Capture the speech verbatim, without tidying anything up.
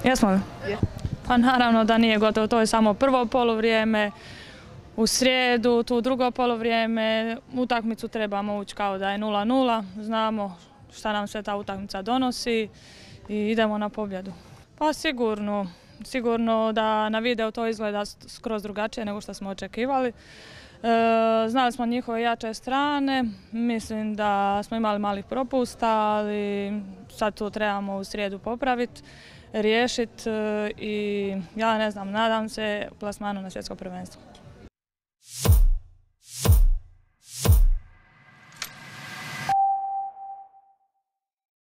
Jesmo li? Pa naravno da nije gotovo, to je samo prvo poluvrijeme. U srijedu, tu drugo poluvrijeme, utakmicu trebamo ući kao da je nula nula, znamo šta nam sve ta utakmica donosi i idemo na pobjedu. Pa sigurno, sigurno da na videu to izgleda skroz drugačije nego što smo očekivali. E, znali smo njihove jače strane, mislim da smo imali malih propusta, ali sad to trebamo u srijedu popraviti, riješiti i ja ne znam, nadam se plasmanu na svjetsko prvenstvo.